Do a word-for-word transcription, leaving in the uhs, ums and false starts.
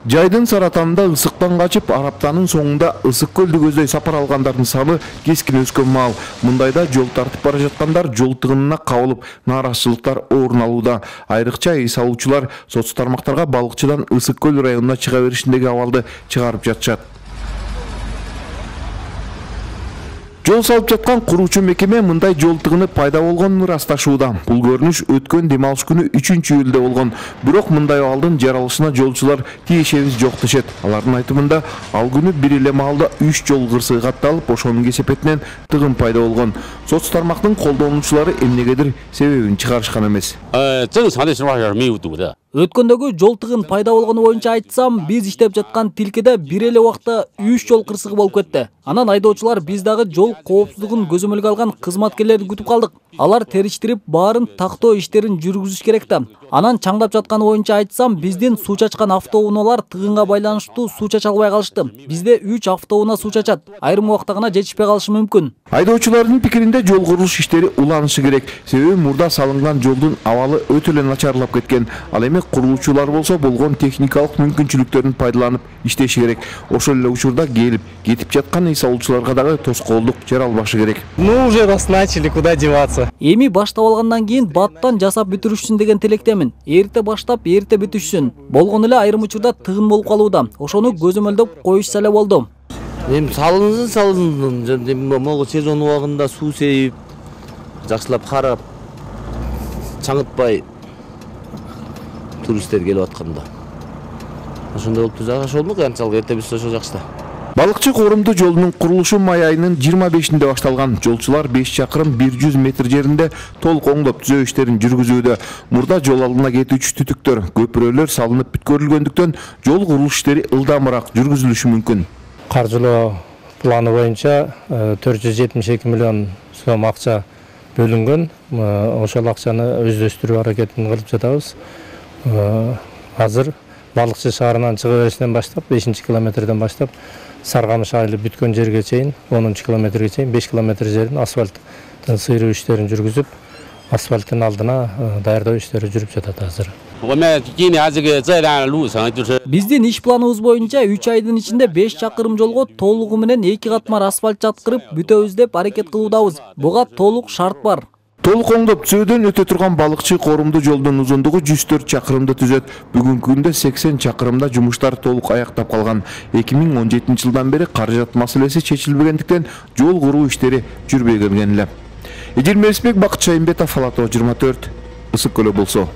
Жайдын Саратанында ысыктан качып, Араптанын соңунда ысык көлдү көздөй сапар алгандардын саны кескин өскөн маал. Мындайда жол тартып бара жаткандар жол тыгынына кабылып, нааразычылыктар орун алууда. Айрыкча эс алуучулар соц тармактарга балыкчыдан Ысык көл районуна чыга беришиндеги абалды чыгарып жатышат. Жол салып жаткан куруучу мекеме мындай жол тыгыны пайда болгонун ырасташууда. Бул көрүнүш өткөн дем алыш күнү үчүнчү июлда болгон. Бирок мындай абалдын жаралышына жолчулар тиешебиз жок дешет. Алардын айтымында, ал күнү бир эле маалда үч жол кырсыгы катталып, ошонун кесепетинен тыгын пайда болгон. Соц тармактын колдонуучулары эмнегедир себебин чыгарышкан эмес. Өткөндөгү жол тыгын пайда болгону боюнча айтсам, биз иштеп жаткан тилкеде бир эле убакта үч жол кырсыгы болуп кетти. Анан айдоочулар биз дагы жол коопсуздугун көзөмөлгө алган кызматкерлерди күтүп калдык. Алар териштирип, баарын тактоо иштерин жүргүзүш керек да. Анан чаңдап жатканы боюнча айтсам, биздин суу чачкан автоунаалар тыгынга байланыштуу суу чача албай калышты. Бизде үч автоунаа суу чачат. Айрым убакта гана жетишпей калышы мүмкүн. Айдоочулардын пикиринде жол курулуш иштери уланышы керек. Себеби мурда салынган жолдун абалы өтө эле начарлап кеткен. Ал эми курулуучулар болсо болгон техникалык мүмкүнчүлүктөрүн пайдаланып иштеши керек. Ошол эле учурда келип, кетип жаткан эс алуучуларга дагы тоскоолдук жаралбашы керек. Ну уже раз начали, куда деваться. Эми баштап алгандан кийин баттан жасап бүтүрүшсүн деген тилектемин. Эрте баштап, эрте бүтүшсүн. Болгон эле айрым учурда тыгын болуп калууда. Ошону көзөмөлдөп коюшса эле болду. Эми салынсын, салынсын. Могу сезон убагында суу сейип, жакшылап карап, чаңытпай туристтер келип атканда. Ошондой болуп турса, ошол болмок, анчалык эрте бүтсө ошо жакшы да. Балыкчы Коорумду жолунун курулушу май айынын жыйырма бешинде башталган. Жолчулар беш чакырым бир жүз метр жеринде толук оңдоп түзөө иштерин жүргүзүүдө. Мурда жол алдына кетүүчү түтүктөр, көпүрөлөр салынып бүткөрүлгөндүктөн жол курулуш иштери ылдамыраак жүргүзүлүшү мүмкүн. Каржылоо планы боюнча төрт жүз жетимиш эки миллион сом акча бөлүнгөн. Ошол акчаны өздөштүрүү аракетин кылып жатабыз. Азыр Балыкчы шаарынан чыга беришинен баштап, бешинчи километрден баштап Саргамыш айылы бүткөн жерге чейин, онунчу километрге чейин беш километр жерин асфальттын сыйруу иштерин жүргүзүп, асфальттын алдына даярдоо иштери жүрүп жатат азыр. Биздин иш планыбыз боюнча үч айдын ичинде беш чакырым жолго толугу менен эки катмар асфальт жаткырып бүтөбүз деп аракет кылуудабыз. Буга толук шарт бар. Толук оңдоп түзөөдөн өтө турган Балыкчы Коорумду жолдун узундугу жүз төрт чакырымды түзөт. Бүгүнкү күндө сексен чакырымда жумуштар толук аяктап калган. эки миң он жетинчи жылдан бери каражат маселеси чечилбегендиктен жол куруу иштери жүрбөй келген эле. Эдир Мерисбек, Бакыт Шайымбетов, Ала тоо жыйырма төрт, Ысык көлү болсо.